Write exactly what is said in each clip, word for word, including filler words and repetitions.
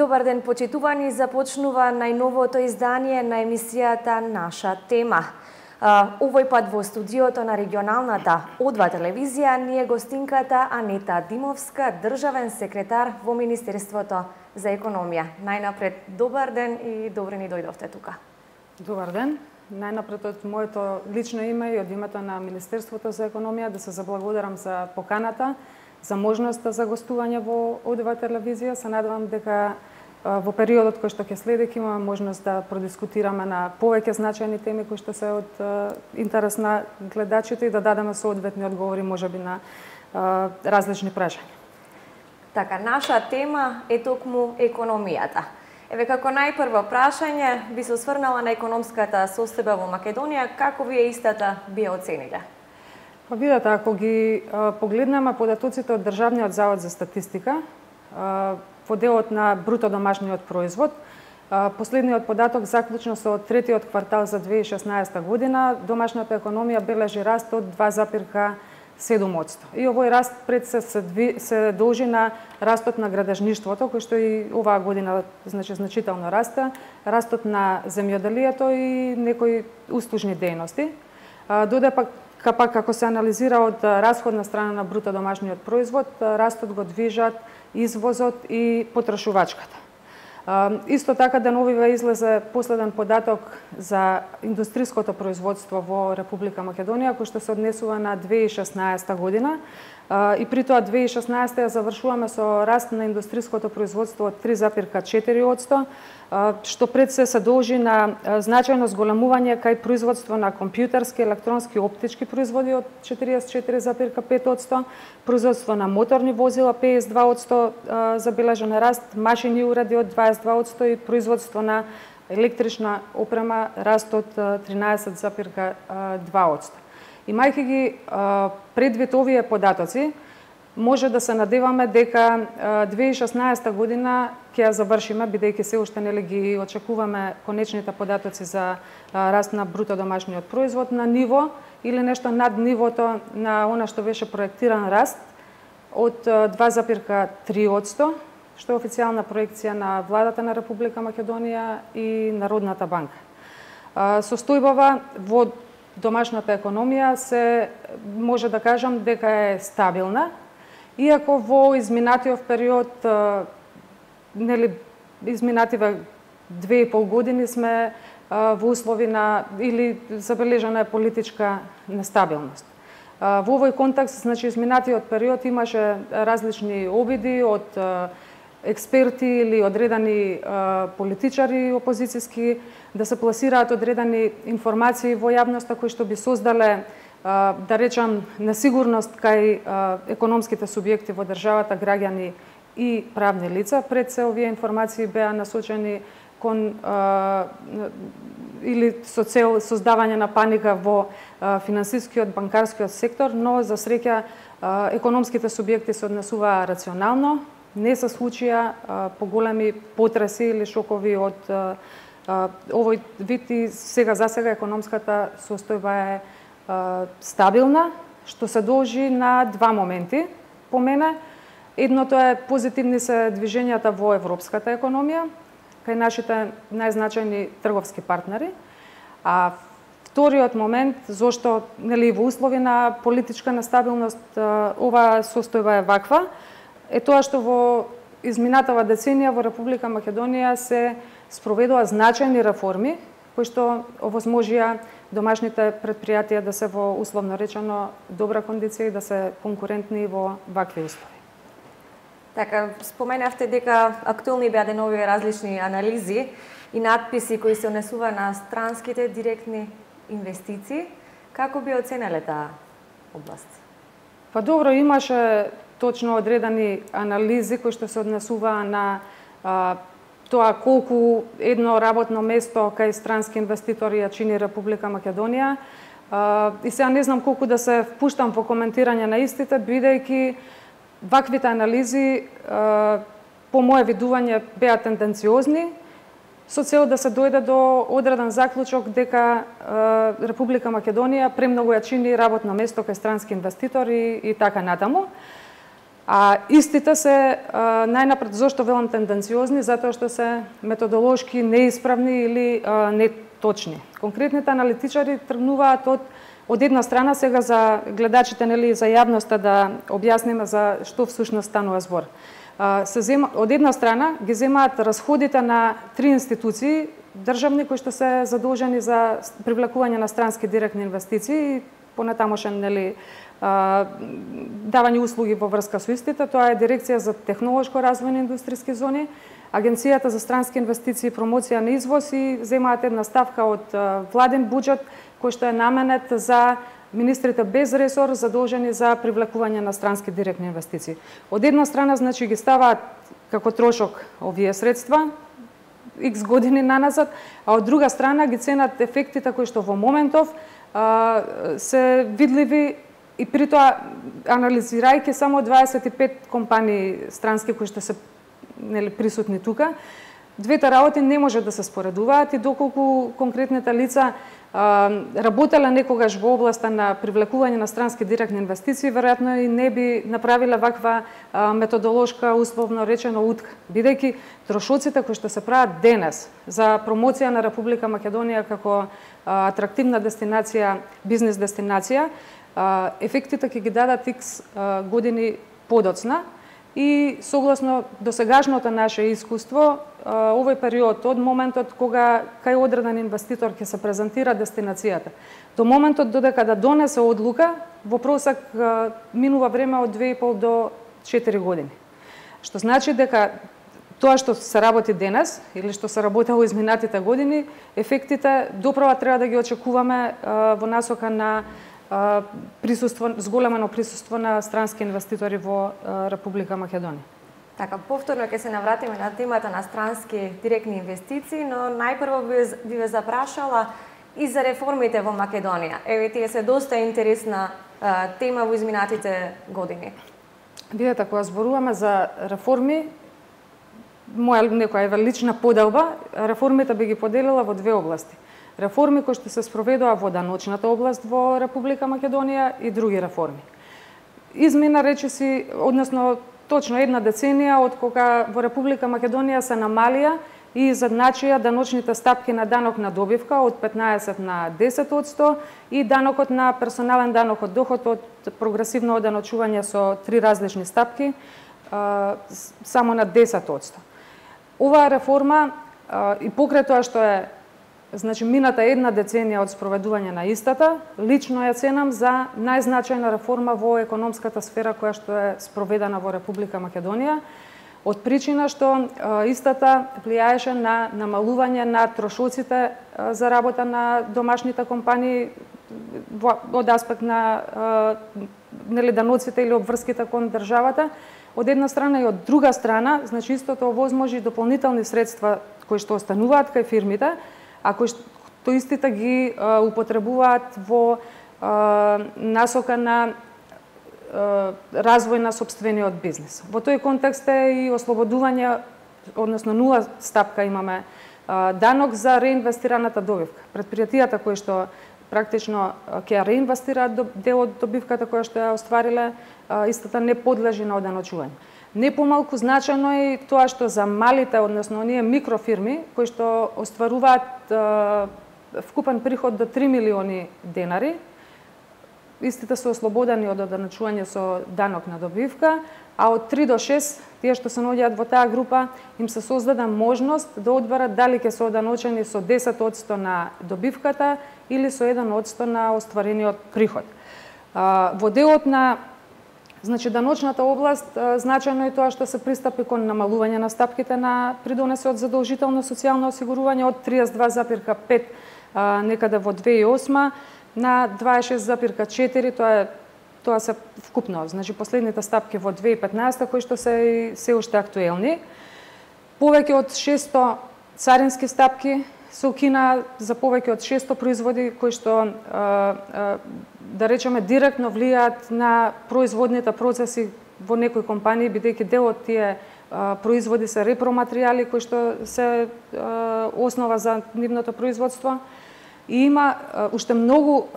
Добар ден, почитувани, започнува најновото издание на емисијата Наша тема. Овој пат во студиото на регионалната О два телевизија ни е гостинката Анета Димовска, државен секретар во Министерството за економија. Најнапред, добар ден и добре ни дојдовте тука. Добар ден. Најнапред од моето лично име и од името на Министерството за економија да се заблагодарам за поканата, за можноста за гостување во О два телевизија. Се надевам дека во периодот кој што ќе следи ќе имаме можност да продискутираме на повеќе значајни теми кои што се од интерес на гледачите и да дадеме соодветни одговори можеби на различни прашања. Така, наша тема е токму економијата. Еве, како најпрво прашање, би се осврнала на економската состојба во Македонија, како вие истата би ја оцениле? Па видете, ако ги погледнеме податоците од Државниот завод за статистика, во делот на бруто домашниот производ, последниот податок заклучно со третиот квартал за две илјади и шеснаесета година, домашната економија бележи раст од два запирка седум одсто. И овој раст пред се се должи на растот на градежништвото, кој што и оваа година значи значително расте, растот на земјоделието и некои услужни дејности. Доде пак Капак, како се анализира од расходна страна на бруто домашниот производ, растот го движат извозот и потрошувачката. Исто така деновиве излезе последен податок за индустриското производство во Република Македонија, кој што се однесува на две илјади и шеснаесета година. И при тоа две илјади и шеснаесета ја завршуваме со раст на индустриското производство од три запирка четири одсто, што пред се се должи на значајно зголемување кај производство на компјутерски, електронски, оптички производи од четириесет и четири запирка пет одсто, производство на моторни возила педесет и два одсто забележен раст, машини и уреди од дваесет и два одсто и производство на електрична опрема раст од тринаесет запирка два одсто. Имајќи ги предвид овие податоци, може да се надеваме дека две илјади и шеснаесета година ќе ја завршиме, бидејќи се уште нели ги очекуваме конечните податоци за раст на бруто домашниот производ на ниво или нешто над нивото на она што беше проектиран раст од два запирка три одсто, што е официјална проекција на владата на Република Македонија и Народната банка. Состојбава во домашната економија се може да кажам дека е стабилна, иако во изминатиот период, нели изминативе две и пол години сме во услови на или забележана е политичка нестабилност. Во овој контекст, значи изминатиот период имаше различни обиди од експерти или одредени политичари опозицијски да се пласираат одредени информации во јавноста кои што би создале, да речам, несигурност кај економските субјекти во државата, граѓани и правни лица. Пред се овие информации беа насочени кон или со цел создавање на паника во финансискиот, банкарскиот сектор, но за среќа економските субјекти се однесуваа рационално, не се случија поголеми потреси или шокови од овој вид и сега за сега економската состојба е стабилна, што се должи на два моменти по мене. Едното е позитивни се движењата во европската економија, кај нашите најзначајни трговски партнери. А вториот момент, зошто нели во услови на политичка нестабилност оваа состојба е ваква, е тоа што во изминатава деценија во Република Македонија се спроведува значајни реформи кои што овозможија домашните предпријатија да се во условно речено добра кондиција и да се конкурентни во вакви услови. Така, споменавте дека актуелни беа деновиве различни анализи и надписи кои се однесува на странските директни инвестиции. Како би оценеле таа област? Па добро, имаше точно одредени анализи кои што се однесуваа на а, тоа колку едно работно место кај странски инвеститори ја чини Република Македонија. А, и сега не знам колку да се впуштам во коментирање на истите, бидејќи ваквите анализи а, по моје видување беа тенденциозни, со цел да се дојде до одреден заклучок дека а, Република Македонија премногу ја чини работно место кај странски инвеститори и така натаму. А истите се а, најнапред зошто велам тенденциозни, затоа што се методолошки неисправни или а, неточни. Конкретните аналитичари тргнуваат од од една страна сега за гледачите, нели, за јавноста да објасниме за што всушност станува збор. А, се зема, од една страна ги земаат расходите на три институции државни кои што се задолжени за привлекување на странски директни инвестиции и понатамошен, нели, давање услуги во врска со истите. Тоа е Дирекција за технолошко развој на индустријски зони, Агенцијата за странски инвестиции и промоција на извоз и земаат една ставка од владен буџет кој што е наменет за министрите без ресор задолжени за привлекување на странски директни инвестиции. Од една страна, значи, ги ставаат како трошок овие средства икс години наназад, а од друга страна ги ценат ефектите кои што во моментов а, се видливи. И при тоа, анализирајќи само дваесет и пет компании странски кои што се, нели, присутни тука, двете работи не може да се споредуваат и доколку конкретните лица а, работеле некогаш во областа на привлекување на странски директни инвестиции, веројатно и не би направиле ваква а, методолошка, условно речено, утка. Бидејќи трошоците кои што се прават денес за промоција на Република Македонија како а, атрактивна дестинација, бизнес дестинација, ефектите ќе ги дадат икс години подоцна и согласно досегашното наше искуство, овој период од моментот кога кај одреден инвеститор ќе се презентира дестинацијата до моментот додека да донесе одлука, во просек минува време од две и пол до четири години. Што значи дека тоа што се работи денес или што се работело изминатите години, ефектите доправа треба да ги очекуваме во насока на присуство, зголемено присуство на странски инвеститори во Република Македонија. Така, повторно ќе се навратиме на темата на странски директни инвестиции, но најпрво би ве запрашала и за реформите во Македонија. Еве, тие се доста интересна а, тема во изминатите години. Видете, кога зборуваме за реформи, моја некоја лична поделба, реформите би ги поделила во две области. Реформи кои што се спроведува во даночната област во Република Македонија и други реформи. Измина речиси, односно точно една деценија од кога во Република Македонија се намалија и изедначија даночните стапки на данок на добивка од петнаесет на десет одсто и данокот на персонален данок од доход од прогресивно оданочување со три различни стапки само на десет одсто. Оваа реформа и покрај тоа што е, значи, мината една деценија од спроведување на истата, лично ја ценам за најзначајна реформа во економската сфера која што е спроведена во Република Македонија, од причина што истата влијаеше на намалување на трошоците за работа на домашните компании од аспект на нели даноците или обврските кон државата, од една страна и од друга страна, значи истото овозможи дополнителни средства кои што остануваат кај фирмите, а кои што истите ги а, употребуваат во а, насока на а, развој на сопствениот бизнес. Во тој контекст е и ослободување, односно нула стапка имаме а, данок за реинвестираната добивка. Предпријатијата кои што практично ќе реинвестираат дел од добивката која што ја оствариле, а, истата не подлежи на оданочување. Не помалку значајно е тоа што за малите, односно оние микрофирми кои што остваруваат е, вкупен приход до три милиони денари, истите се ослободени од оданочување со данок на добивка, а од три до шест, тие што се наоѓаат во таа група, им се создаде можност да одберат дали ќе се оданочени со десет одсто на добивката или со еден одсто на остварениот приход. Во делот на, значи, даночната област, значајно е тоа што се пристапи кон намалување на стапките на придонесе од задолжително социјално осигурување од триесет и два запирка пет некаде во две илјади и осма на дваесет и шест запирка четири, тоа е тоа се вкупно, значи последните стапки во две илјади и петнаесета кои што се се уште актуелни. Повеќе од шесто царински стапки се укина за повеќе од шесто производи кои што да речеме директно влијаат на производните процеси во некои компании, бидејќи дел од тие производи се репроматеријали кои што се основа за нивното производство. И има уште многу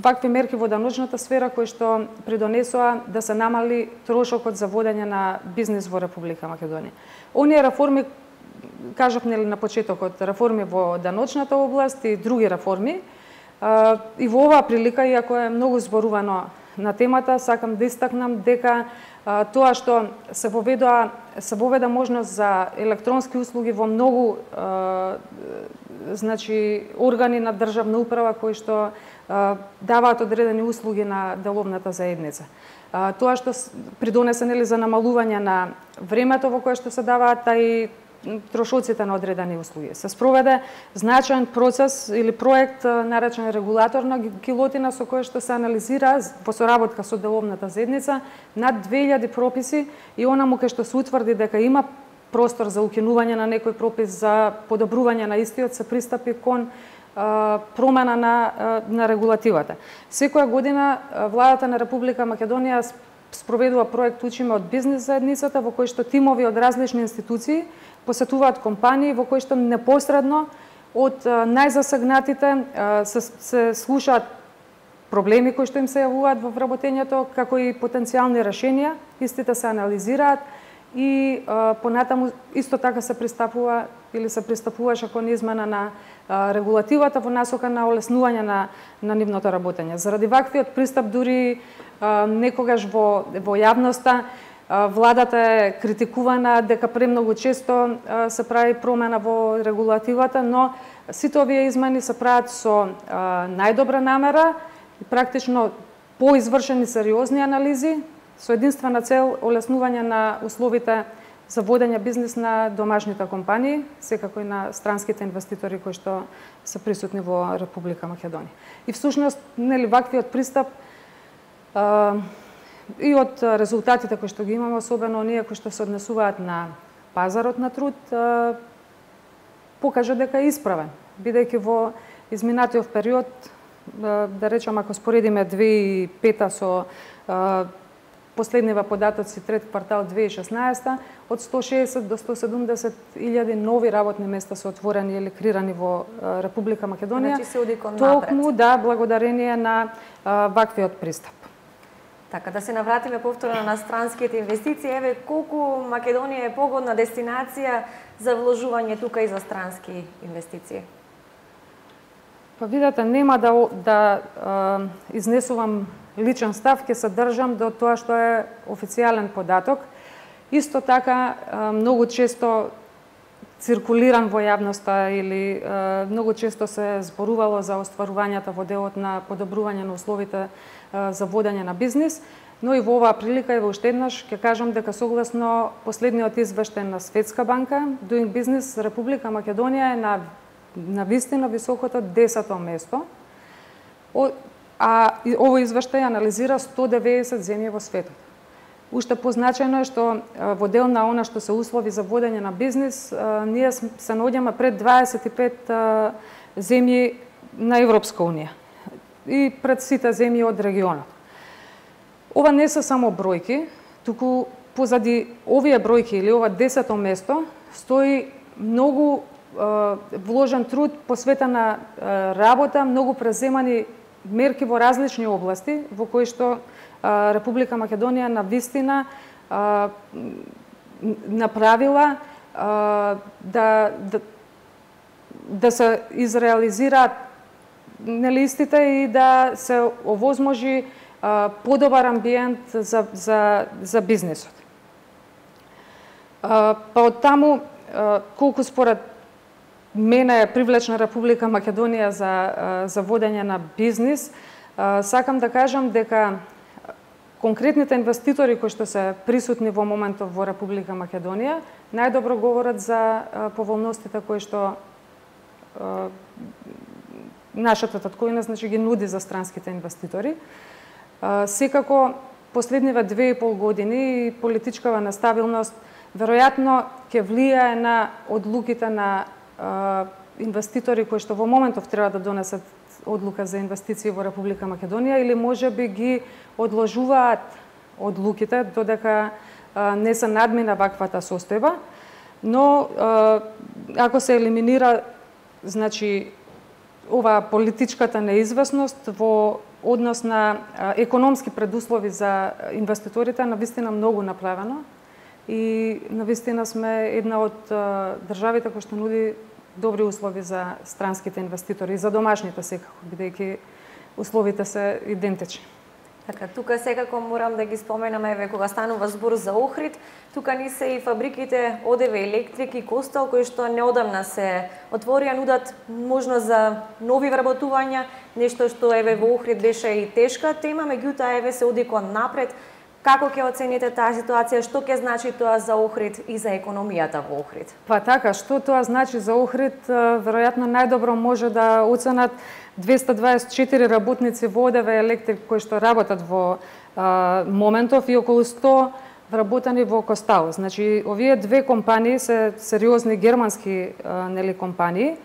вакви мерки во даночната сфера кои што придонесоа да се намали трошокот за водење на бизнис во Република Македонија. Оние реформи, кажав нели на почетокот, реформи во даночната област и други реформи, и во оваа прилика, иако е многу зборувано на темата, сакам да истакнам дека тоа што се воведоа, се воведа можност за електронски услуги во многу значи органи на државна управа кои што даваат одредени услуги на деловната заедница. Тоа што придонесе нели за намалување на времето во кое што се даваат и трошоците на одредени услуги. Се спроведе значаен процес или проект наречен регулаторна гилотина со кој што се анализира во соработка со деловната заедница над две илјади прописи и онаму кај што се утврди дека има простор за укинување на некој пропис, за подобрување на истиот, се пристапи кон а, промена на, а, на регулативата. Секоја година владата на Република Македонија спроведува проект Учиме од бизнис заедницата, во кој што тимови од различни институции посетуваат компании, во кои што непосредно од најзасегнатите се, се слушаат проблеми кои што им се јавуваат во вработењето, како и потенцијални решенија, истите се анализираат и а, понатаму исто така се пристапува или се пристапуваше кон измена на а, регулативата во насока на олеснување на, на нивното работење. Заради ваквиот пристап дури а, некогаш во, во јавноста а, владата е критикувана дека премногу често а, се прави промена во регулативата, но сите овие измени се прават со а, најдобра намера и практично поизвршени сериозни анализи, со единствена цел олеснување на условите за водење бизнис на домашните компании, секако и на странските инвеститори кои што се присутни во Република Македонија. И всушност, нели, ваквиот пристап а, и од резултатите кои што ги имаме, особено оние кои што се однесуваат на пазарот на труд, а, покажа дека е исправен, бидејќи во изминатиот период, а, да речам, ако споредиме две илјади и пета со а, последнива податоци трет квартал две илјади и шеснаесета, од сто шеесет до сто седумдесет илјади нови работни места се отворени или крирани во Република Македонија. Значи се оди кон токму да благодарение на а, ваквиот пристап. Така, да се навратиме повторно на странските инвестиции, еве колку Македонија е погодна дестинација за вложување тука и за странски инвестиции? Па видете, нема да, да а, изнесувам личен став, ќе се држам до тоа што е официјален податок. Исто така, многу често циркулиран во јавноста или многу често се зборувало за остварувањата во делот на подобрување на условите за водење на бизнис, но и во оваа прилика и во уште еднаш ќе кажам дека согласно последниот извештај на Светска банка, Doing Business, Република Македонија е на на вистина високото десето место. А овој извештај анализира сто деветдесет земји во светот. Уште позначајно е што во дел на она што се услови за водење на бизнис, ние се наоѓаме пред дваесет и пет земји на Европска унија и пред сите земји од регионот. Ова не се само бројки, туку позади овие бројки или ова десето место стои многу вложен труд, посветена работа, многу преземани мерки во различни области, во кои што а, Република Македонија на вистина а, направила а, да, да, да се изреализираат нелистите и да се овозможи а, подобар амбиент за, за, за бизнисот. А, па од таму, а, колку според мене е привлечна Република Македонија за, за водење на бизнис, сакам да кажам дека конкретните инвеститори кои што се присутни во моментов во Република Македонија најдобро говорат за поволностите кои што нашата татковина, значи, ги нуди за странските инвеститори. Секако последниве две и пол години политичкава нестабилност веројатно ќе влијае на одлуките на инвеститори кои што во моментов треба да донесат одлука за инвестиции во Република Македонија или можеби ги одложуваат одлуките додека не се надмина ваквата состојба, но ако се елиминира, значи, ова политичката неизвестност во однос на економски предуслови за инвеститорите навистина многу направено и навистина сме една од државите кои што нуди добри услови за странските инвеститори и за домашните секако, бидејќи условите се идентични. Така, тука секако морам да ги споменам, еве, кога станува збор за Охрид, тука ни се и фабриките ОДВ Електрик и Костал, кои што неодамна се отворија, нудат можност за нови вработувања, нешто што еве во Охрид беше и тешка тема, меѓутоа еве се оди кон напред. Како ќе оцените таа ситуација, што ќе значи тоа за Охрид и за економијата во Охрид? Па така, што тоа значи за Охрид, веројатно најдобро може да оценат двесте дваесет и четири работници во ОДВ Електрик кои што работат во а, моментов и околу сто вработени во Костал. Значи, овие две компании се сериозни германски а, нели компании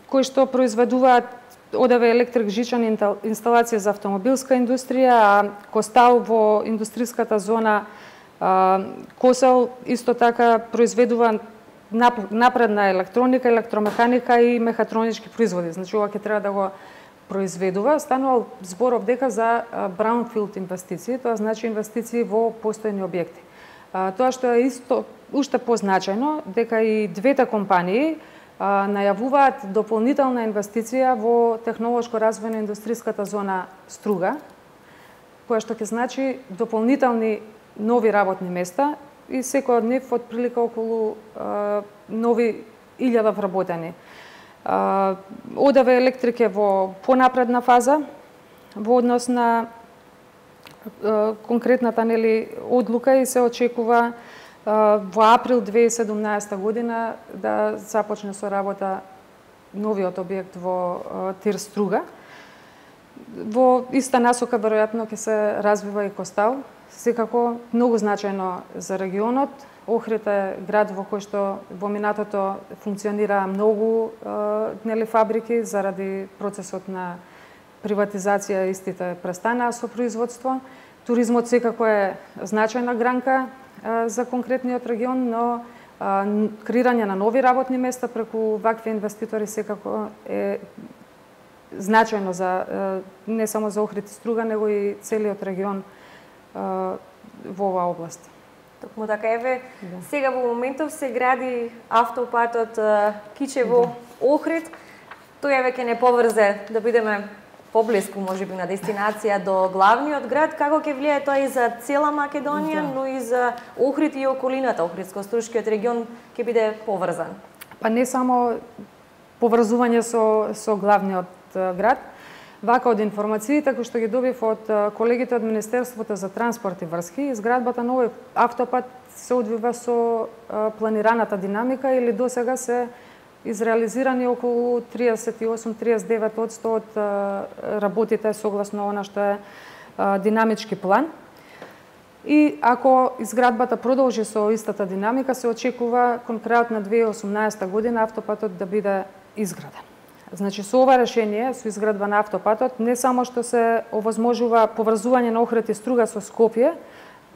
кои што произведуваат ОДВ Електрик жичани инсталации за автомобилска индустрија, а Костал во индустријската зона а, Косел исто така произведува напредна електроника, електромеханика и мехатронички производи. Значи, ова ќе треба да го произведува. Станувал зборов дека за браунфилд инвестиции, тоа значи инвестиции во постојни објекти. А, тоа што е исто уште позначајно, дека и двете компании а, најавуваат дополнителна инвестиција во технолошко развојна индустријската зона Струга, која што ќе значи дополнителни нови работни места и секој од нив од прилика околу а, нови илјада вработени. А, ОДВ Електрик е во понапредна фаза во однос на а, конкретната нели одлука и се очекува а, во април две илјади и седумнаесета година да започне со работа новиот објект во а, Тир Струга. Во иста насока веројатно ќе се развива и Костал. Секако многу значајно за регионот. Охрид е град во кој што во минатото функционира многу е, нели фабрики заради процесот на приватизација, истите престанаа со производство. Туризмот секако е значајна гранка е, за конкретниот регион, но е, креирање на нови работни места преку вакви инвеститори секако е значајно за е, не само за Охрид и Струга, него и целиот регион во оваа област. Токму така, еве, да. Сега во моментов се гради автопатот Кичево Охрид. Тој еве ќе не поврзе да бидеме поблиску можеби на дестинација до главниот град. Како ќе влијае тоа и за цела Македонија, да. Но и за Охрид и околината, Охридско-Струшкиот регион ќе биде поврзан? Па не само поврзување со со главниот град. Вака од информациите кои што ги добив од колегите од Министерството за транспорт и врски, изградбата на овој автопат се одвива со планираната динамика или досега се изреализирани околу триесет и осум до триесет и девет одсто од работите согласно она што е динамички план. И ако изградбата продолжи со истата динамика, се очекува кон крајот на две илјади и осумнаесета година автопатот да биде изграден. Значи, со ова решение, со изградба на автопатот, не само што се овозможува поврзување на Охрид и Струга со Скопје,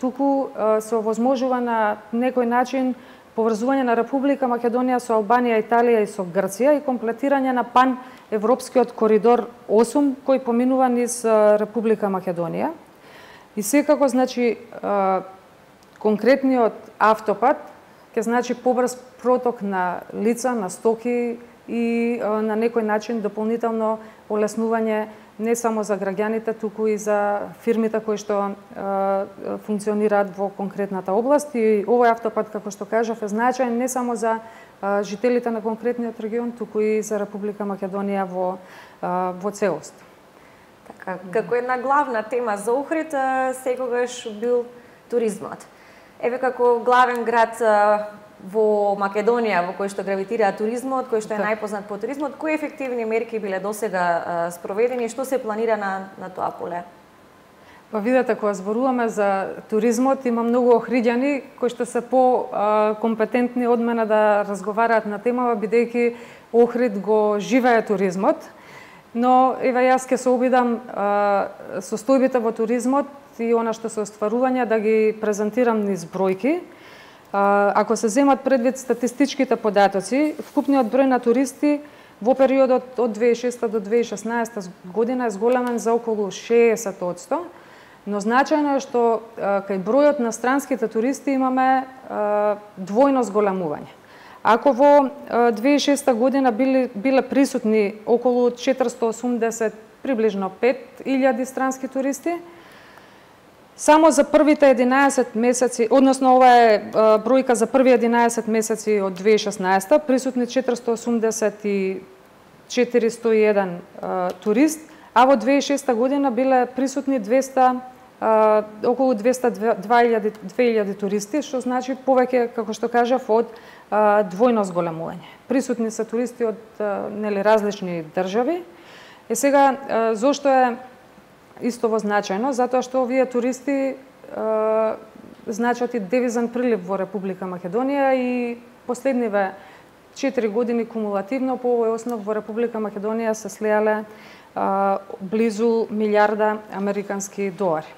туку се овозможува на некој начин поврзување на Република Македонија со Албанија, Италија и со Грција и комплетирање на пан-европскиот коридор осум кој поминува низ Република Македонија. И секако, значи, конкретниот автопат ќе значи побрз проток на лица, на стоки и на некој начин дополнително олеснување не само за граѓаните, туку и за фирмите кои што е, функционираат во конкретната област. И овој автопат, како што кажав, е значаен не само за е, жителите на конкретниот регион, туку и за Република Македонија во, е, во целост. Така, како една главна тема за Охрид, секогаш бил туризмот. Еве како главен град во Македонија, во кој што гравитира туризмот, кој што е најпознат по туризмот, кои ефективни мерки биле досега спроведени и што се планира на, на тоа поле? Па видете, кога зборуваме за туризмот, има многу охриѓани кои што се по-компетентни од мене да разговараат на темава, бидејќи Охрид го живее туризмот. Но, еве, јас ќе се обидам а, состојбите во туризмот и она што се остварувања да ги презентирам низ бројки. Ако се земат предвид статистичките податоци, вкупниот број на туристи Во периодот од две илјади и шеста до две илјади и шеснаесета година е зголемен за околу шеесет одсто, но значајно е што кај бројот на странските туристи имаме двојно зголемување. Ако во две илјади и шеста година биле, биле присутни околу четиристо осумдесет, приближно пет илјади странски туристи, само за првите единаесет месеци, односно ова е бројка за први единаесет месеци од две илјади и шеснаесета, присутни четиристо осумдесет и четиристо и еден турист, а во две илјади и шеста година биле присутни двеста, околу двеста две илјади туристи, што значи повеќе, како што кажав, од двојно зголемување. Присутни се туристи од нели различни држави. Е сега зошто е исто значајно? Затоа што овие туристи значат и девизен прилив во Република Македонија и последниве четири години кумулативно по овој основ во Република Македонија се слеале близу милиарда американски долари.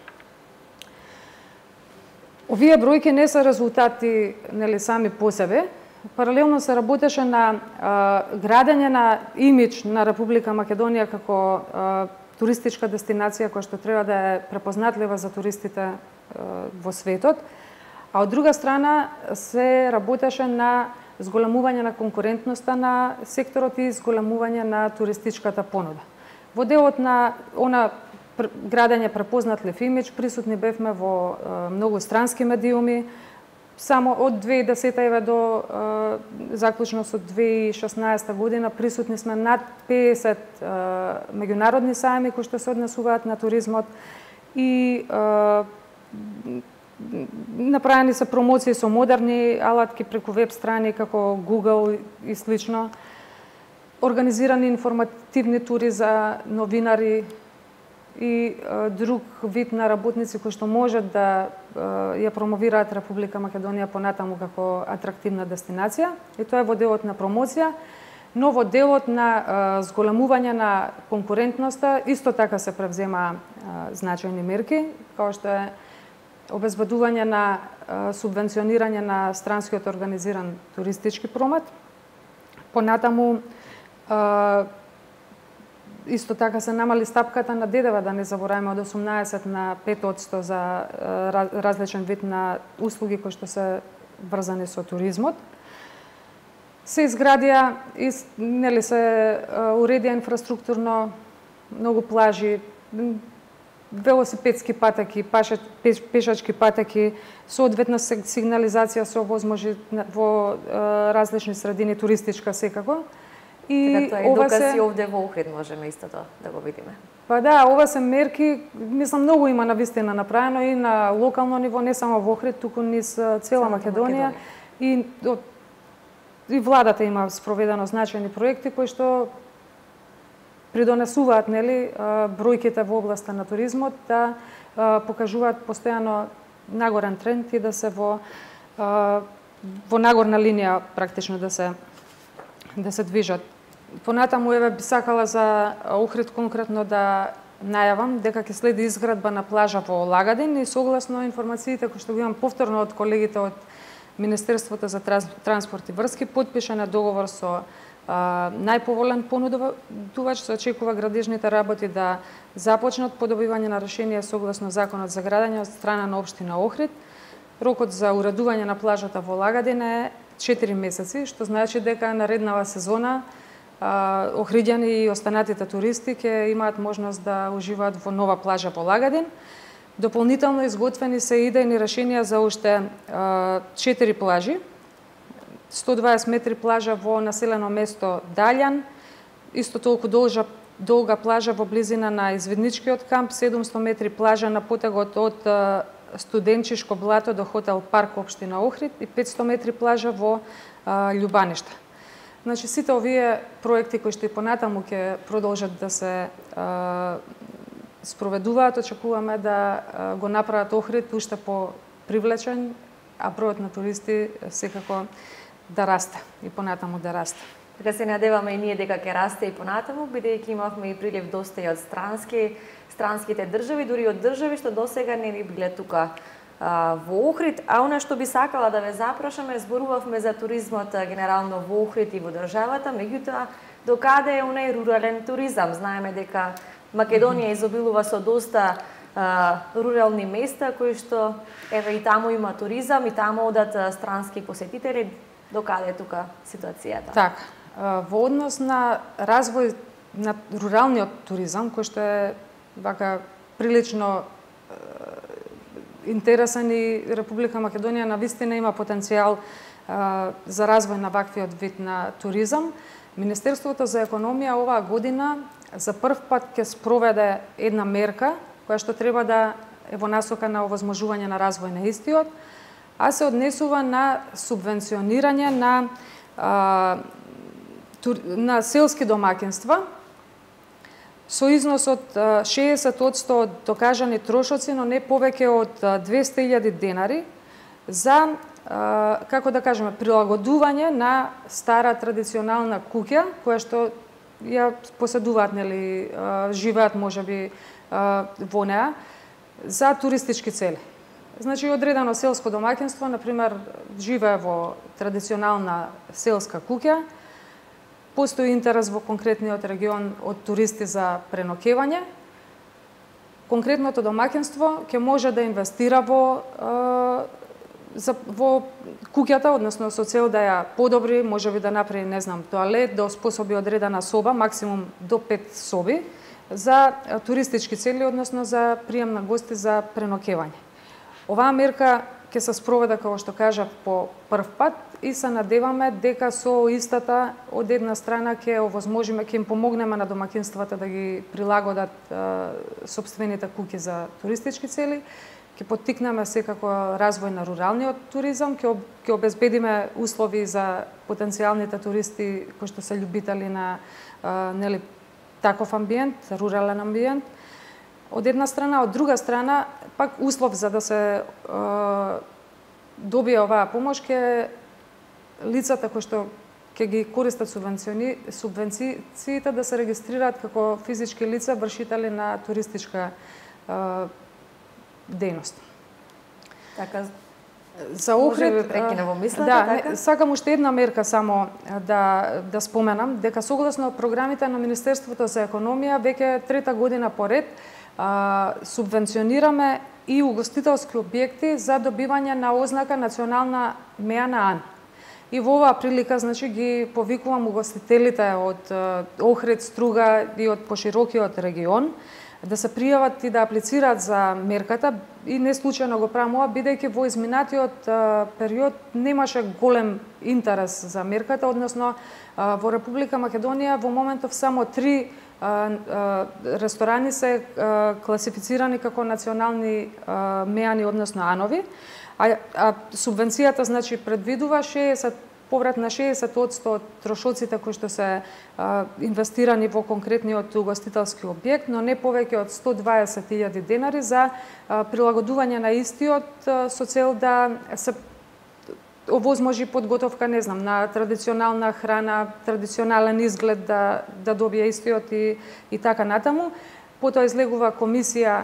Овие бројки не се резултати нели сами по себе. Паралелно се работеше на а, градење на имидж на Република Македонија како а, туристичка дестинација која што треба да е препознатлива за туристите а, во светот, а од друга страна се работеше на зголемување на конкурентноста на секторот и зголемување на туристичката понуда. Во делот на она градење препознатлив имидж присутни бевме во а, многу странски медиуми. Само од две илјади и десета еве до е, заклучно со две илјади и шеснаесета година присутни сме над пеесет е, меѓународни сајми кои што се однесуваат на туризмот и е, направени се промоции со модерни алатки преку веб страни како Google и слично. Организирани информативни тури за новинари и е, друг вид на работници кои што можат да е, ја промовираат Република Македонија понатаму како атрактивна дестинација. И тоа е во делот на промоција, но во делот на е, зголемување на конкурентноста исто така се превзема е, значајни мерки, како што е обезбедување на е, субвенционирање на странскиот организиран туристички промет. Понатаму е, исто така се намали стапката на ДДВ, да не забораваме, од осумнаесет на пет одсто за различен вид на услуги кои што се врзани со туризмот. Се изградија и нели се уредија инфраструктурно многу плажи, велосипедски патеки, пешачки патеки, соодветна сигнализација со возможи во различни средини, туристичка секако. И така, тоа е доказ се... и овде во Охрид можеме исто тоа да го видиме. Па да, ова се мерки, мислам, многу има навистина направено и на локално ниво, не само во Охрид, туку низ цела Македонија. И, и владата има спроведено значајни проекти кои што придонесуваат нели бројките во областа на туризмот да покажуваат постојано нагорен тренд и да се во во нагорна линија практично да се да се движат. Понатаму еве би сакала за Охрид конкретно да најавам дека ќе следи изградба на плажа во Лагадин и согласно информациите кои што ги имам повторно од колегите од Министерството за транспорт и врски, потпишан е договор со а, најповолен понудувач, се очекува градежните работи да започнат по добивање на решение согласно законот за градење од страна на општина Охрид. Рокот за уредување на плажата во Лагадин е четири месеци, што значи дека нареднава сезона охриѓани и останатите туристи ќе имаат можност да уживаат во нова плажа во Лагадин. Дополнително изготвени се идејни решенија за уште четири плажи. сто дваесет метри плажа во населено место Далјан, исто толку должа, долга плажа во близина на извидничкиот камп, седумсто метри плажа на потегот од Студенчишко блато до хотел Парк општина Охрид и петсто метри плажа во а, Љубаниште. Значи сите овие проекти кои што и понатаму ќе продолжат да се а, спроведуваат, очекуваме да а, го направат Охрид уште по привлечен, а бројот на туристи секако да расте и понатаму да расте. Така се надеваме и ние дека ќе расте и понатаму, бидејќи имавме и прилив доста и од странски странските држави, дури од држави што досега не ни биле тука а, во Охрид. А она што би сакала да ве запрашаме, зборувавме за туризмот генерално во Охрид и во државата, меѓутоа докаде е онај рурален туризам? Знаеме дека Македонија изобилува со доста а, рурални места кои што еве и таму има туризам и таму одат а, странски посетители. Докаде е тука ситуацијата? Така, во однос на развој на руралниот туризам, кој што е вака прилично интересен и Република Македонија навистина има потенцијал а, за развој на ваквиот вид на туризам, Министерството за економија оваа година за прв пат ќе спроведе една мерка која што треба да е во насока на овозможување на развој на истиот, а се однесува на субвенционирање на а, тур, на селски домаќинства со износ од шеесет одсто од докажани трошоци, но не повеќе од двесте илјади денари за, како да кажеме, прилагодување на стара традиционална куќа, која што ја поседуваат, нели, живеат можеби во неа, за туристички цели. Значи, одредено селско домаќинство, например, живее во традиционална селска куќа, постои интерес во конкретниот регион од туристи за преноќевање. Конкретното домаќинство ќе може да инвестира во за во куќата, односно со цел да ја подобри, можеби да направи, не знам, тоалет, да оспособи одредена соба, максимум до пет соби за туристички цели, односно за прием на гости за преноќевање. Оваа мерка ќе се спроведе, како што кажав, по прв пат и се надеваме дека со истата од една страна ќе овозможиме, ќе им помогнеме на домаќинствата да ги прилагодат е, сопствените куќи за туристички цели, ќе поттикнеме секако развој на руралниот туризам, ќе, ќе обезбедиме услови за потенцијалните туристи кои што се љубители на е, нели, таков амбиент, рурален амбиент. Од една страна, од друга страна, пак услов за да се е, добие оваа помош ке лицата кои што ќе ги користат субвенциони, субвенциите да се регистрираат како физички лица вршители на туристичка е, дејност. Така, за Охрид, може би прекина во мислата, да, така? Не, сакам уште една мерка само да да споменам, дека согласно програмите на Министерството за економија веќе трета година поред а, субвенционираме и угостителски објекти за добивање на ознака национална меа на ан. И во оваа прилика, значи, ги повикувам угостителите од Охрид, Струга и од поширокиот регион да се пријават и да аплицираат за мерката, и не случајно го правам ова, бидејќи во изминатиот период немаше голем интерес за мерката, односно во Република Македонија во моментов само три ресторани се класифицирани како национални меани, односно анови, а, а субвенцијата, значи, предвидува шеесет поврат на шеесет одсто од трошоците кои што се а, инвестирани во конкретниот угостителски објект, но не повеќе од сто дваесет илјади денари за а, прилагодување на истиот а, со цел да се овозможи подготовка, не знам, на традиционална храна, традиционален изглед да да добие истиот и и така натаму. Потоа излегува комисија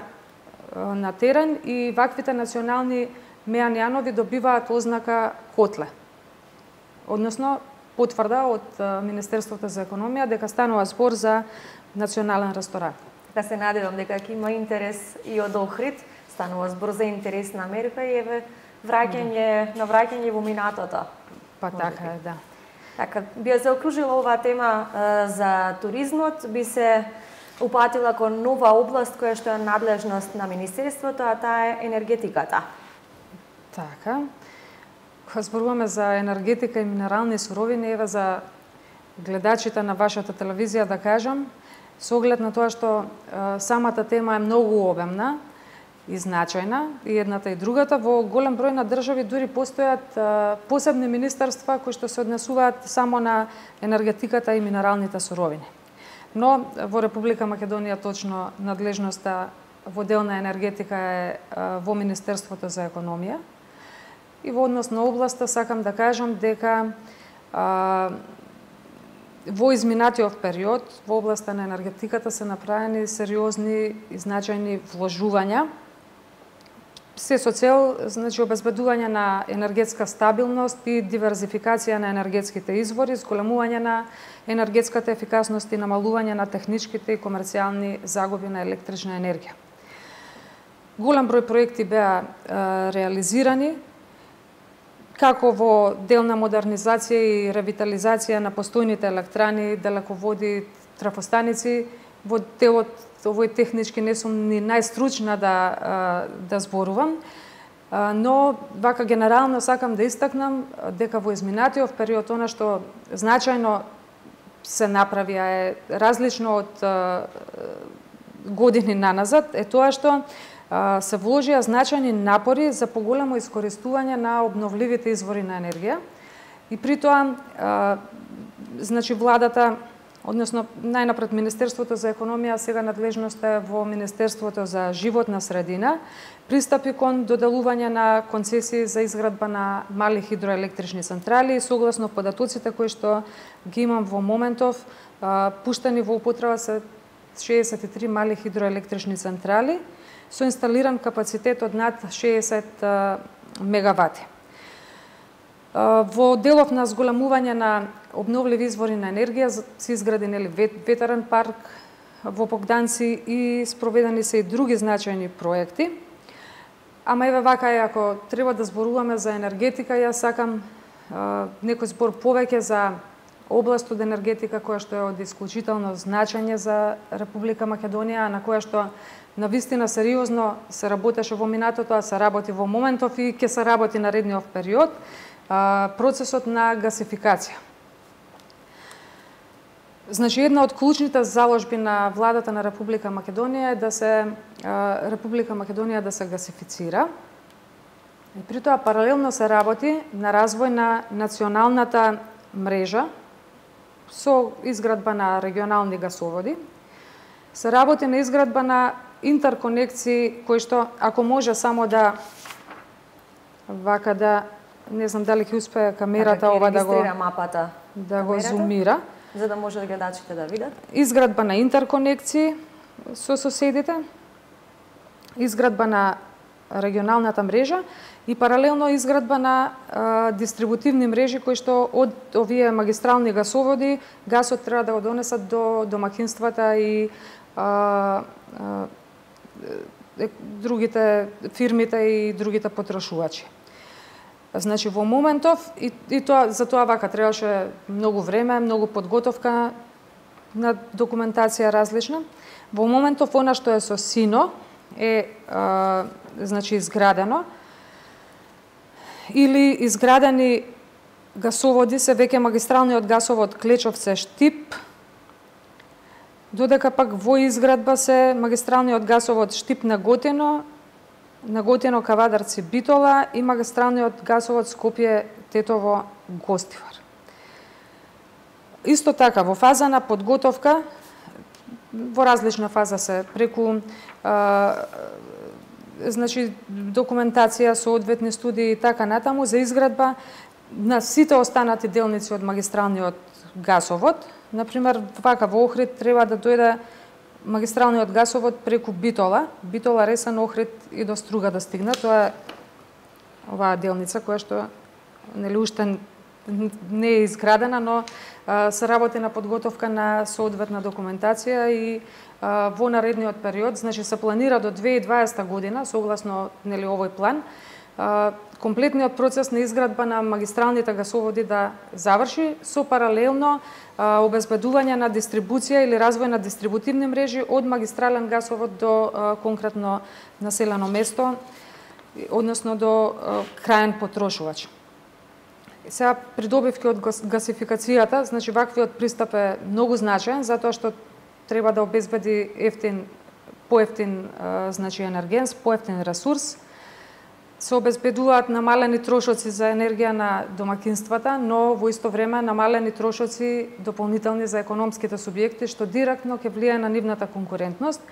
а, на терен и ваквите национални меани анови добиваат ознака котле. Односно, потврда од Министерството за економија дека станува збор за национален ресторан. Да се надевам дека ќе има интерес и од Охрид, станува збор за интересна мерка и еве враќање, на враќање во минатото. Па така е, да. Така, би ја заокружила оваа тема е, за туризмот, би се упатила кон нова област која што е надлежност на Министерството, а таа е енергетиката. Така. Кога зборуваме за енергетика и минерални суровини, еве за гледачите на вашата телевизија да кажам, со оглед на тоа што е, самата тема е многу обемна и значајна, и едната и другата, во голем број на држави дури постојат е, посебни министерства кои што се однесуваат само на енергетиката и минералните суровини. Но во Република Македонија точно надлежноста во дел на енергетика е, е во Министерството за економија. И во однос на областа сакам да кажам дека а, во изминатиот период во областа на енергетиката се направени сериозни и значајни вложувања се со цел, значи, обезбедување на енергетска стабилност и диверзификација на енергетските извори, зголемување на енергетската ефикасност и намалување на техничките и комерцијални загуби на електрична енергија. Голем број проекти беа реализирани, како во дел на модернизација и ревитализација на постојните електрани, далеководи, трафостаници. Во делот овој технички не сум ни најстручна да, да зборувам, но вака генерално сакам да истакнам дека во изминатиот период она што значајно се направи, а е различно од години наназад, е тоа што се вложија значајни напори за поголемо искористување на обновливите извори на енергија. И при тоа, значи, владата, односно најнапред Министерството за економија, сега надлежноста е во Министерството за животна средина, пристапи кон доделување на концесии за изградба на мали хидроелектрични централи и согласно податоците кои што ги имам во моментов, пуштени во употреба се шеесет и три мали хидроелектрични централи со инсталиран капацитет од над шеесет мегавати. Во делов на зголемување на обновливи извори на енергија се изградени ветерен парк во Богданци и спроведени се и други значајни проекти. Ама еве вака е, ако треба да зборуваме за енергетика, јас сакам некој збор повеќе за област од енергетика која што е од исклучително значење за Република Македонија, на која што навистина сериозно се работеше во минатото, а се работи во моментов и ќе се работи наредниот период, процесот на гасификација. Значи, една од клучните заложби на владата на Република Македонија е да се Република Македонија да се гасифицира. И при тоа паралелно се работи на развој на националната мрежа со изградба на регионални гасоводи. Се работи на изградба на интерконекции кои што, ако може само да вака да, не знам дали ќе успее камерата ова да го мапата, да го зумира, за да може гледачите да видат. Изградба на интерконекции со соседите, изградба на регионалната мрежа и паралелно изградба на а, дистрибутивни мрежи кои што од овие магистрални гасоводи гасот треба да го донесат до домакинствата и а, а, другите фирмите и другите потрошувачи. Значи, во моментов, и, и тоа, за тоа вака требаше многу време, многу подготовка на документација различна. Во моментов, она што е со сино е а, значи, изградено, или изградени гасоводи се веќе магистралниот гасовод Клечовце-Штип, додека пак во изградба се магистралниот гасовод Штип на Готино, на Готино Кавадарци Битола и магистралниот гасовод Скопје-Тетово Гостивар. Исто така, во фаза на подготовка, во различна фаза се преку а, значи, документација, соодветни студии и така натаму за изградба на сите останати делници од магистралниот гасовод. Например, вака во Охрид треба да дојде магистралниот гасовод преку Битола, Битола, Ресен, Охрид и до Струга да стигне. Тоа е оваа делница која што нели уште не е изградена, но а, се работи на подготовка на соодветна документација и а, во наредниот период, значи се планира до две илјади и дваесета година, согласно нели овој план, а, комплетниот процес на изградба на магистралните гасоводи да заврши со паралелно а, обезбедување на дистрибуција или развој на дистрибутивни мрежи од магистрален гасовод до а, конкретно населено место, односно до а, краен потрошувач. Сега придобивки од гасификацијата, значи ваквиот пристап е многу значаен затоа што треба да обезбеди ефтин, поевтин значи енергенс, поевтин ресурс. Се обезбедуваат намалени трошоци за енергија на домакинствата, но во исто време намалени трошоци дополнителни за економските субјекти, што директно ќе влијае на нивната конкурентност.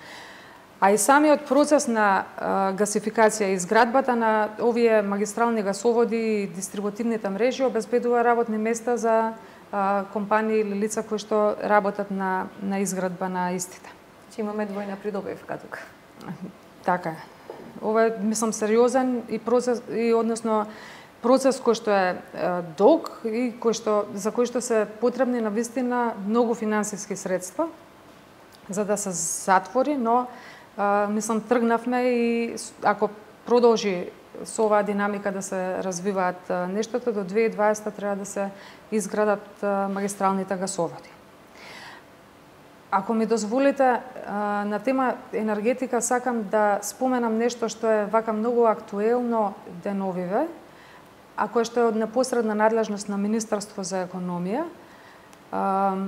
А и самиот процес на а, гасификација и изградбата на овие магистрални гасоводи и дистрибутивните мрежи обезбедува работни места за а, компании или лица кои што работат на, на изградба на истите. Че имаме двојна придобивка тука. Така е. Ова е, мислам, сериозен и процес и односно процес кој што е, е долг и кој што за кој што се потребни на вистина многу финансиски средства за да се затвори, но а, мислам тргнавме и ако продолжи со оваа динамика да се развиваат а, нештата, до две илјади и дваесета треба да се изградат а, магистралните гасоводи. Ако ми дозволите, а, на тема енергетика сакам да споменам нешто што е вака многу актуелно деновиве, а кое што е од непосредна надлежност на Министерство за економија. А,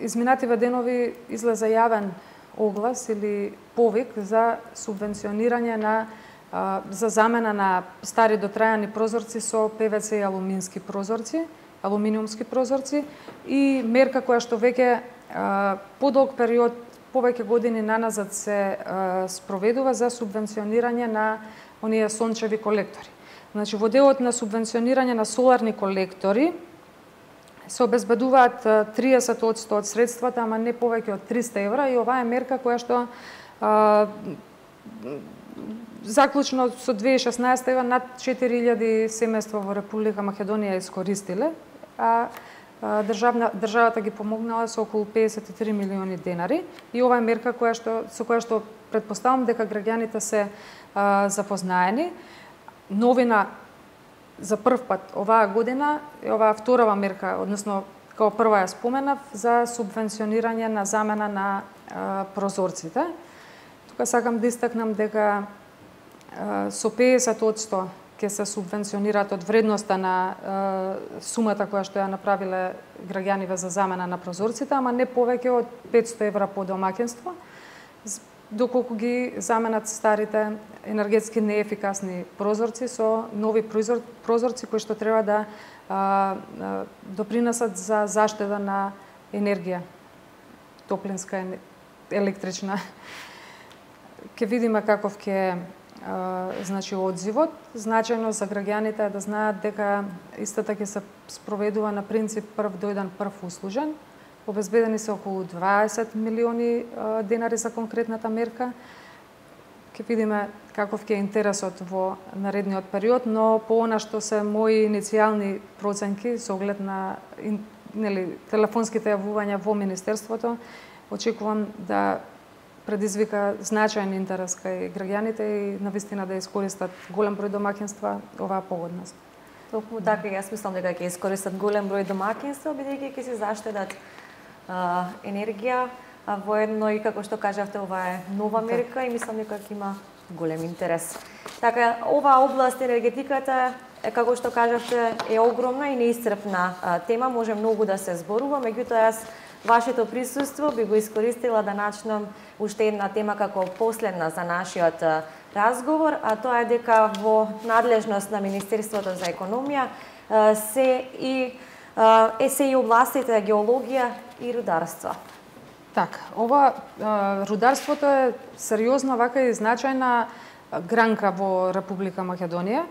изминативе денови излезе јавен оглас или повик за субвенционирање на а, за замена на стари дотрајани прозорци со пе ве це и алумински прозорци, алуминиумски прозорци и мерка која што веќе подолг период, повеќе години наназад се а, спроведува за субвенционирање на оние сончеви колектори. Значи, во делот на субвенционирање на соларни колектори се обезбедуваат триесет одсто од средствата, ама не повеќе од триста евра, и оваа е мерка која што а, заклучно со две илјади и шеснаесета ева над четири илјади семејства во Република Македонија искористиле, а државна, државата ги помогнала со околу педесет и три милиони денари, и ова е мерка која што, со која што претпоставам дека граѓаните се а, запознаени. Новина за прв пат оваа година е оваа вторава мерка, односно као прва ја споменав, за субвенционирање на замена на а, прозорците. Тука сакам да истакнам дека а, со педесет одсто ќе се субвенционираат од вредноста на е, сумата која што ја направиле граѓаниве за замена на прозорците, ама не повеќе од петсто евра по домаќинство, доколку ги заменат старите енергетски неефикасни прозорци со нови прозорци кои што треба да а, а, допринесат за заштеда на енергија, топлинска, електрична. Ке видиме каков ќе значи одзивот. Значајно за граѓаните е да знаат дека истата ќе се спроведува на принцип прв дојден, прв услужен. Обезбедени се околу дваесет милиони денари за конкретната мерка. Ќе видиме каков ќе е интересот во наредниот период, но по она што се мои иницијални проценки со оглед на нели телефонските јавувања во министерството, очекувам да предизвика значајен интерес кај граѓаните и навистина да искористат голем број домаќинства оваа погодност. Токму така, јас мислам дека ќе искористат голем број домаќинства, бидејќи ќе се заштедат а, енергија, а воедно и како што кажавте, ова е нова мерка и мислам дека ќе има голем интерес. Така, оваа област енергетиката е, како што кажавте, е огромна и неисцрпна а, тема, може многу да се зборува, меѓутоа јас вашето присуство би го искористила да начнам уште една тема како последна за нашиот разговор, а тоа е дека во надлежност на Министерството за економија се и е се и областите геологија и рударство. Така, ова рударството е сериозна вака и значајна гранка во Република Македонија,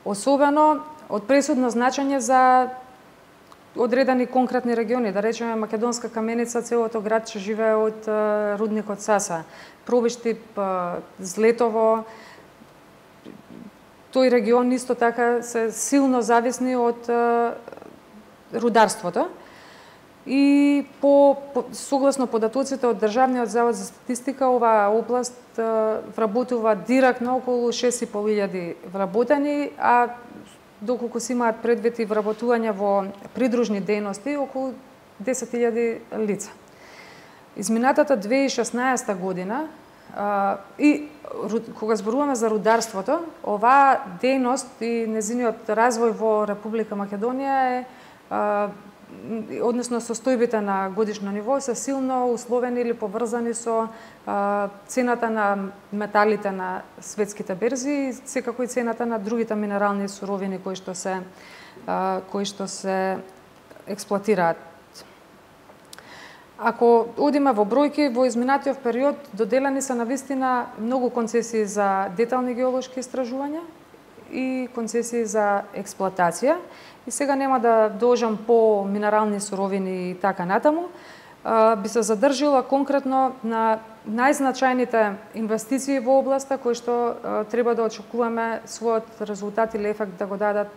особено од пресудно значење за одредени конкретни региони, да речеме Македонска каменица, целото градче живее од рудникот Саса, Пробиштип, Злетово. Тој регион исто така се силно зависни од рударството. И по, по согласно податоците од Државниот завод за статистика, оваа област вработува директно околу шест и пол илјади вработени, а доколку се имаат предвид и вработување во придружни дејности, околу десет илјади лица. Изминатата две илјади и шеснаесета година, а, и кога зборуваме за рударството, оваа дејност и незиниот развој во Република Македонија е, а, односно состојбите на годишно ниво се силно условени или поврзани со а, цената на металите на светските берзи и секако и цената на другите минерални суровини кои што се а, кои што се експлоатираат. Ако одиме во бројки, во изминатиот период доделени се навистина многу концесии за детални геолошки истражувања и концесии за експлоатација. И сега нема да дожам по минерални суровини и така натаму. би се задржила конкретно на најзначајните инвестиции во областа кои што треба да очекуваме својот резултат или ефект да го дадат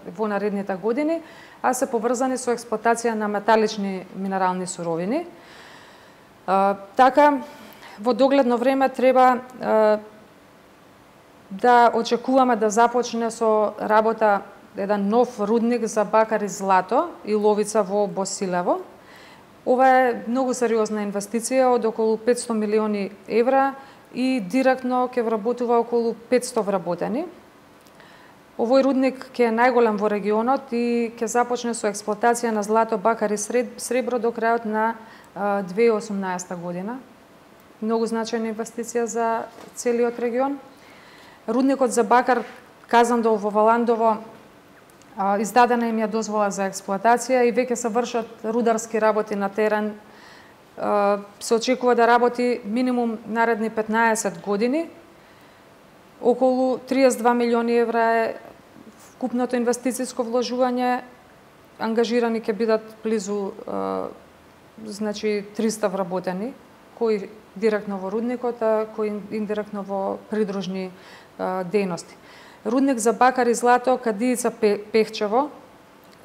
во наредните години, а се поврзани со експлоатација на металични минерални суровини. Така, во догледно време треба да очекуваме да започне со работа еден нов рудник за бакар и злато и ловица во Босилево. Ова е многу сериозна инвестиција од околу петсто милиони евра и директно ќе вработува околу петсто вработени. Овој рудник ќе е најголем во регионот и ќе започне со експлоатација на злато, бакар и сребро до крајот на две илјади и осумнаесета година. Многу значајна инвестиција за целиот регион. Рудникот за бакар Казандол во Валандово издадена им ја дозвола за експлоатација и веќе се вршат рударски работи на терен. Се очекува да работи минимум наредни петнаесет години. Околу триесет и два милиони евра е вкупното инвестициско вложување. Ангажирани ќе бидат близу значи триста вработени, кои директно во рудникот, а кои индиректно во придружни дејности. Рудник за бакар и злато Кадијица Пехчево.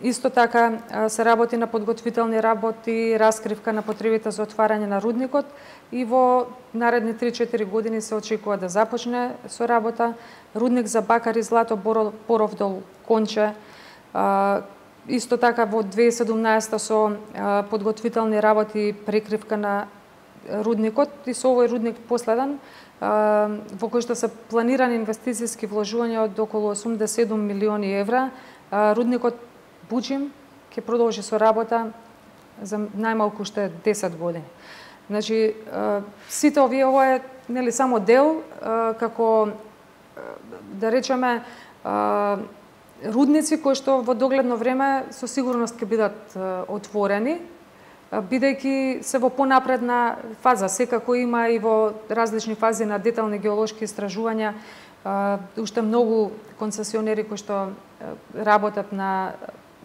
Исто така се работи на подготвителни работи, раскривка на потребите за отварање на рудникот и во наредни три-четири години се очекува да започне со работа. Рудник за бакар и злато Боровдол Конче. Исто така во две илјади и седумнаесета со подготвителни работи и прекривка на рудникот и со овој рудник последен во кој што се планирани инвестициски вложувања од околу осумдесет и седум милиони евра. Рудникот Буџим ќе продолжи со работа за најмалку уште десет години. Значи, сите овие, ова е нели само дел, како да речеме рудници кои што во догледно време со сигурност ќе бидат отворени, бидејќи се во понапредна фаза. Секако има и во различни фази на детални геолошки истражувања уште многу концесионери кои што работат на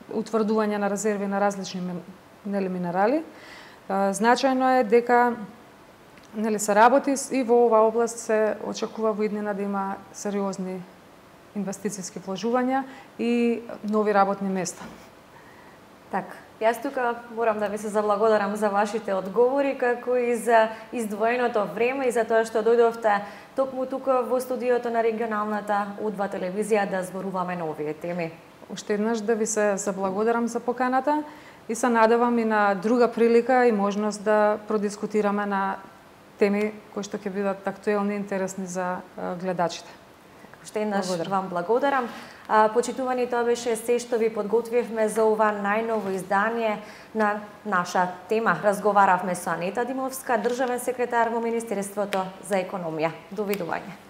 утврдување на резерви на различни нели минерали. Значајно е дека нели се работи и во оваа област се очекува во иднина да има сериозни инвестициски вложувања и нови работни места. Така. Јас тука морам да ви се заблагодарам за вашите одговори, како и за издвоеното време и за тоа што дојдовте токму тука во студиото на регионалната О два телевизија да зборуваме на овие теми. Уште еднаш да ви се заблагодарам за поканата и се надевам и на друга прилика и можност да продискутираме на теми кои што ќе бидат актуелни и интересни за гледачите. Уште еднаш вам благодарам. Почитувани, тоа беше се што ви подготвивме за ова најново издание на наша тема. Разговаравме со Анета Димовска, државен секретар во Министерството за економија. Довидување.